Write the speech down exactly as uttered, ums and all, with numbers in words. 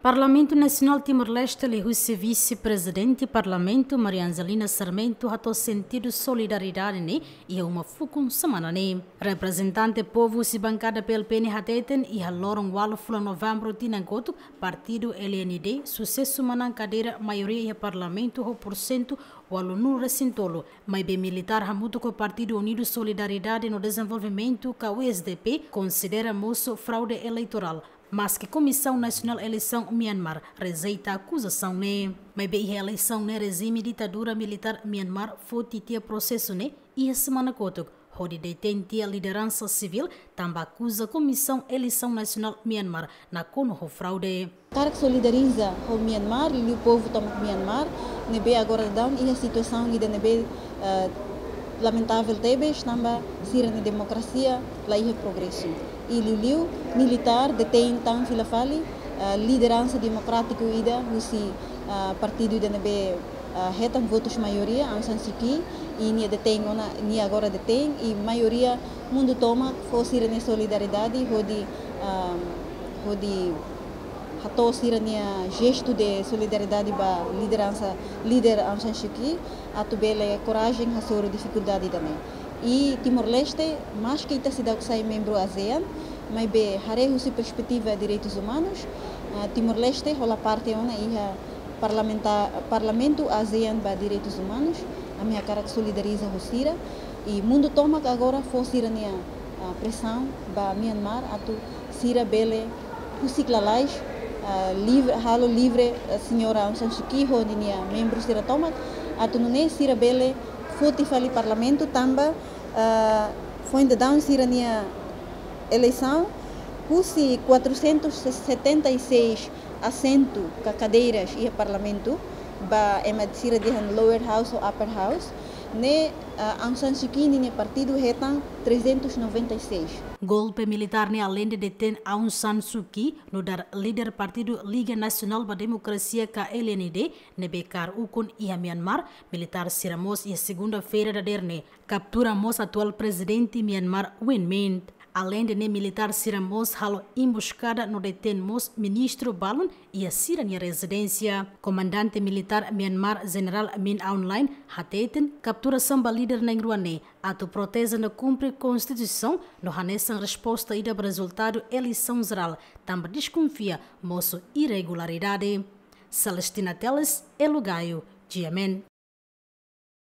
Parlamentu Nasionál Timor-Leste liuhusi Vise-Prezidente Parlamentu Maria Angelina Sarmento hato'o sentidu solidariedade ne'e iha uma fukun semana ne'e. Reprezentante povu husi bankada P L P ne'e hateten iha loron ualu fulan Novembru tinan kotuk, partidu L N D susesu manán kadeira maioria iha Parlamentu ho porsentu ualunulu resin tolu, maibé militár hamutuk ho Partidu Unidu Solidariedade no Dezenvolvimentu ka U S D P konsidera mosu fraude eleitorál. Maske Komisaun Nasionál Eleisaun Myanmar rejeita akuzasaun ne'e, maibé iha eleisaun ne'e rejime ditadura militár Myanmar foti tiha prosesu ne'e iha semana kotuk, hodi detein tiha lideransa sivíl tanba akuza Komisaun Eleisaun Nasionál Myanmar nakonu ho fraude. Hakarak solidariza ho Myanmar, liuliu povu tomak Myanmar, ne'ebé agora daudaun iha situasaun ida ne'ebé, eh, lamentavel tebes, tanba sira-nia demokrasia la iha progresu. I liuliu militár detein tan fila fali, eh, lideransa demokrátiku ida husi, eh, partidu ida ne'ebé, eh, hetan votus maioria, Aung San Suu Kyi, i nia detein ona, nia agora detein, i maioria mundu tomak fó sira-nia solidariedade, hodi, ah, hodi hato'o sira-nia jestu de solidariedade ba lideransa, líder Aung San Suu Kyi, atu bele korajen hasoru difikuldade ida-ne'e. I Timor-Leste, maske ita seidauk sai membru ASEAN, maibé haree husi perspetiva direitus umanus, ah, Timor-Leste hola parte ona iha parlamenta-, Parlamentu ASEAN ba direitus umanus, ami hakarak solidariza ho sira, i mundu tomak agora fó sira-nia, ah, presaun ba Myanmar atu sira bele husik lalais, ah, livre, halo livre, ah, señora Aung San Suu Kyi ho ninia membru sira tomak, atu nune'e sira bele foti fali Parlamentu tanba, ah, foin daudaun sira-nia eleisaun, husi quatrocentos e setenta e seis asentu ka kadeiras iha Parlamentu, ba ema sira dehan Lower House ou Upper House, ne'e, ah, Aung San Suu Kyi ninia partidu hetan trezentos e noventa e seis. Golpe militár ne'e aleinde detein Aung San Suu Kyi, nu'udar líder partidu Liga Nasionál ba Demokrasia ka L N D, ne'ebé kaer ukun iha Myanmar, militár sira mós iha segunda-feira dadeer ne'e kaptura mós atuál prezidente Myanmar Win Myint. Aleinde ne'e militár sira mós halo embuskada no detein mós ministru balun iha sira-nia rezidénsia. Komandante militár Myanmar Jenerál Min Aung Hlaing hateten kapturasaun ba líder na'in-rua ne'e atu proteje no kumpre konstituisaun no hanesan resposta ida ba rezultadu eleisaun jerál, tanba deskonfia mosu irregularidade. Celestina Teles, Elo Gayo, G M N.